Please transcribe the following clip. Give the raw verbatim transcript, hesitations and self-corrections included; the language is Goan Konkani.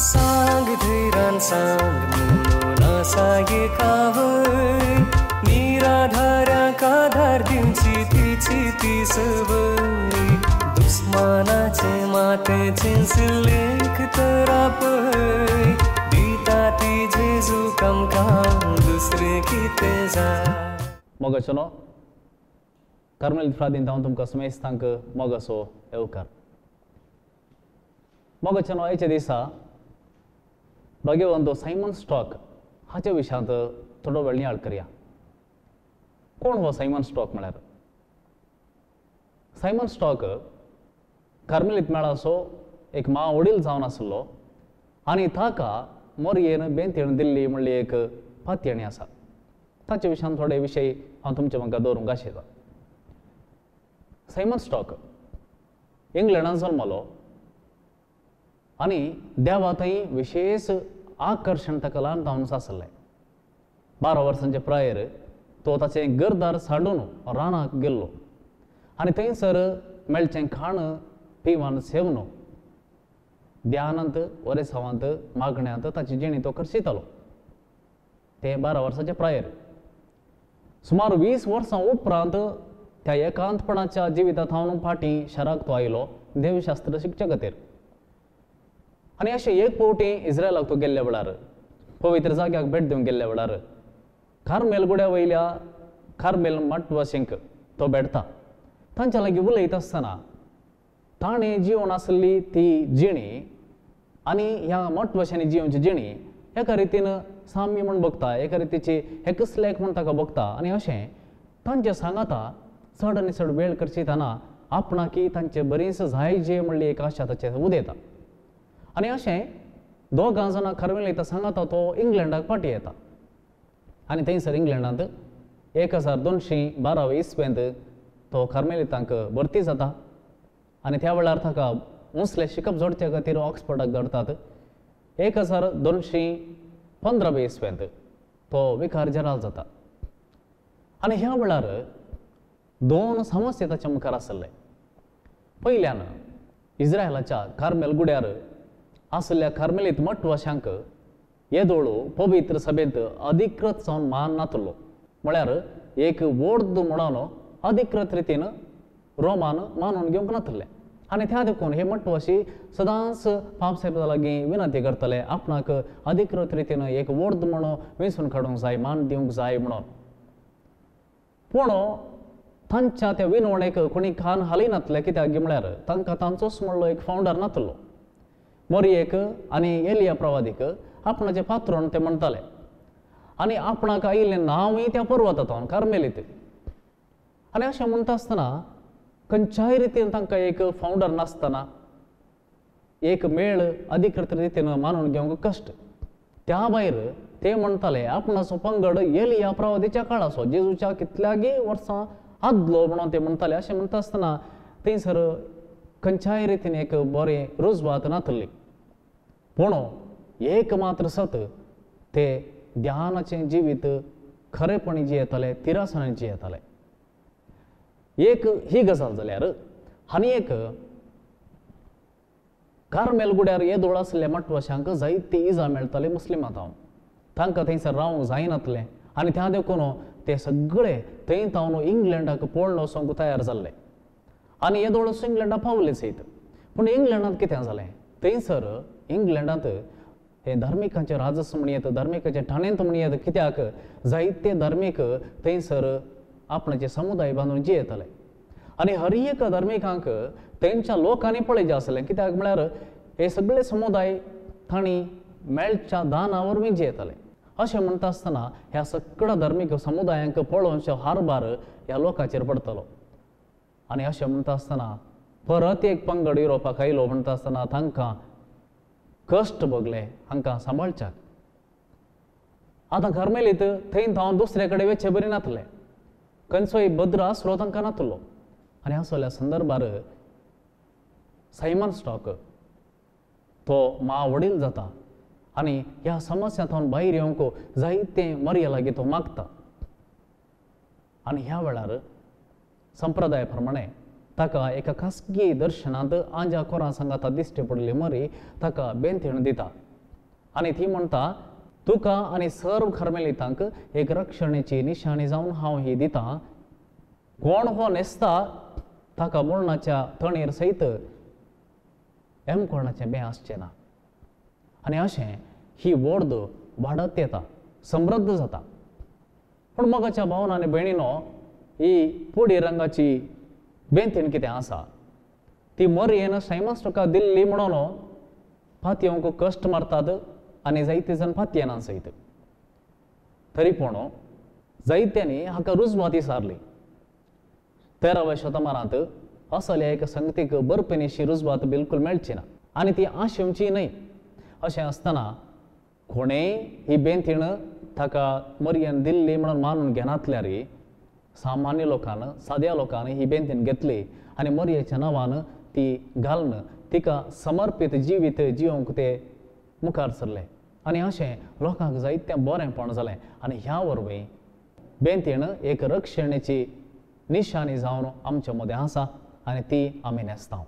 सांग धैरान सांग म्हणून आसा कावय निराधाऱ्यांक आधार दिवची तिची ती सवय दुस्मानाचे मातें लेख तर आपय दिता ती जेजू आमकां दुसरें कितें जाय. मोगाचेनो कार्मेल फ्रादीन हांव तुमकां समेस्तांक मोगाचो येवकार. मोगाचेनो आयच्या दिसा भाग्यवंत सायमन स्टॉक हाच्या विशयांत थोडो वेळ नियाळ करया. कोण हो सायमन स्टॉक म्हळ्यार? सायमन स्टॉक कार्मेलीत मेळाचो एक मा वडील जावन आसलो आनी ताका मोरयेन बेंतेण दिल्ली म्हणली एक पातयेणी आसा. ताच्या विशयान थोडे विशय हांव तुमच्या मुखार दवरूंक आशेता. सायमन स्टॉक इंग्लंडान जल्मलो आनी देवा थंय विशेश आकर्शण ताका ल्हान जावन आसलें. बारा वर्सांचे प्रायेर तो ताचें घरदार सांडून रानाक गेल्लो आनी थंयसर मेळचें खाण पिवन सेवन ध्यानांत ओरेसांवांत मागण्यांत ताची जिणी तो खर्चितालो. ते बारा वर्सांचे प्रायेर सुमार वीस वर्सां उपरांत त्या एकांतपणाच्या जिविता थावन फाटीं शाराक तो आयलो देवशास्त्र शिकच्या खातीर. आनी अशें एक फावटी इस्रायलाक तो गेल्ल्या वेळार पवित्र जाग्याक भेट दिवंक गेल्ल्या वेळार कार्मेल गुड्या वयल्या कार्मेल मठवासींक तो भेटता. तांच्या लागीं उलयता आसतना ताणें जिवन आसली ती जिणी आनी ह्या मठवाशांनी जिवनची जिणी एका रितीन साम्य म्हूण बघता, एका रितीची एकच लेख म्हूण ताका बघता. आनी अशें तांचे सांगाता चड आनी चड वेळ करचितना आपणाकी तांचे बरीच जाय जे म्हणली एक आशा ताचेर उदयता. आनी अशें दोगां जाणां कार्मेलीता सांगाता तो इंग्लंडाक फाटीं येता आनी थंयसर इंग्लंडांत एक हजार दोनशीं बारावे इस्वेंत तो कार्मेलितांक भरती जाता आनी त्या वेळार ताका उंचलें शिकप जोडचे खातीर ऑक्सफर्डाक धाडटात. एक हजार दोनशीं पंदरावे इस्वेंत तो विकार जनरल जाता. आनी ह्या वेळार दोन समस्या ताच्या मुखार आसले. पयल्यान इस्रायलाच्या कार्मेल गुड्यार आसल्या कार्मेलीत मठवाशांक येदोळ पवित्र सभेंत अधिकृत जावन मान नातलो, म्हळ्यार एक वोर्द म्हणून अधिकृत रितीन रोमान मानून घेवंक नातले. आनी त्या देखून हे मठवाशी सदांच पापसाहेबा लागीं विनंती करतले आपणाक अधिकृत रितीन एक वोर्द म्हणून वेंचून काडूंक जाय, मान दिवंक जाय म्हणून. पूण तांच्या त्या विनवणेक कोणी कान हालयनातले, कित्याक म्हळ्यार तांकां तांचोच म्हणलो एक फावंडर नातलो. मोरयेक आनी एलिया प्रवादीक आपणाचें पात्रोण ते म्हणटाले आनी आपणाक आयिल्लें नांवूय त्या पर्वतांत कार्मेलीत. आनी अशें म्हणटा आसतना खंयच्याय रितीन तांकां एक फावंडर नासतना एक मेळ अधिकृत रितीन मानून घेवंक कश्ट. त्या भायर ते म्हणटाले आपणाचो पंगड एलिया प्रवादीच्या काळाचो, जेजूच्या कितल्यागी वर्सां आदलो म्हणून ते म्हणटाले. अशें म्हणटा आसतना थंयसर खंयच्याय रितीन एक बरें रुजवात नातली. पूण एक मात्र सत ते ध्यानाचें जिवीत खरेपणी जियेताले, तिरासणांनी जियेताले. एक ही गजाल जाल्यार आनी एक कार्मेल गुड्यार येदोळ आसल्या मठवाशांक जायती इजा मेळटाली मुस्लिमां थावन. तांकां थंयसर रावंक जायनातलें आनी त्या देखून ते सगळे थंय थावन इंग्लंडाक पळोवन वचोंक तयार जाल्ले आनी येदोळ इंग्लंडाक पावले सयत. पूण इंग्लंडांत कितें जालें, थंयसर इंग्लंडांत हे धार्मिकांचें राजस म्हणयेत, धार्मिकाचें ठाणेंत म्हणयेत, कित्याक जायते धार्मीक थंयसर आपणाचे समुदाय बांदून जियेताले आनी हर एका धार्मिकांक तेंच्या लोकांनी पळयचें आसलें, कित्याक म्हळ्यार हे सगळे समुदाय तांणी मेळच्या दाना वरवीं जियेताले. अशें म्हणटा आसतना ह्या सगळ्या धार्मीक समुदायांक पळोवचो हारभार ह्या लोकांचेर पडटलो. आनी अशें म्हणटा आसतना परत एक पंगड युरोपाक आयलो म्हणटा आसतना तांकां कश्ट भोगले हांकां सांबाळच्याक. आतां कार्मेलीत थंय थावन दुसरे कडेन वचचे बरी नातले, खंयचोय भद्र आसरो तांकां नातलो. आनी असल्या संदर्भार सायमन स्टॉक तो मा वडील जाता आनी ह्या समस्या थावन भायर येवंक जायते मरये लागीं तो मागता. आनी ह्या वेळार संप्रदाय प्रमाणे ताका एका खासगी दर्शनांत आंजा कोरां सांगाता दिश्टी पडली मरी ताका बेंतेण दिता. आनी ती म्हणटा, तुका आनी सर्व कार्मेलितांक एक रक्षणेची निशाणी जावन हांव ही दितां. कोण हो न्हेसता ताका मरणाच्या तणेर सयत एम कोणाचें बें आसचें ना. आनी अशें ही वोर्द वाडत येता, समृद्ध जाता. पूण मोगाच्या भावन आनी भयणीनो, ही पुडी रंगाची बेंतीण कितें आसा ती मोरयेन सायमन्स तुका दिल्ली म्हणून पातयेवंक कश्ट मारतात आनी जायते जाण पातयेना सयत. तरी पूण जायत्यांनी हाका रुजवाती सारली. तेराव्या शतमानांत असल्या एका संगतीक बरपेनीशी रुजवात बिलकूल मेळची ना आनी ती आशेवची न्हय. अशें आसतना कोणेय ही बेंतीण ताका मरयेन दिल्ली म्हणून मानून घेनातल्यार सामान्य लोकान, साद्या लोकान ही बेंतीण घेतली आनी मरयेच्या नांवान ती घालून तिका समर्पीत जिवीत जिवंक ते मुखार सरले. आनी अशें लोकांक जायतें बरेंपण जालें आनी ह्या वरवीं बेंतीण एक रक्षणेची निशाणी जावन आमच्या मदें आसा आनी ती आमी न्हेसता.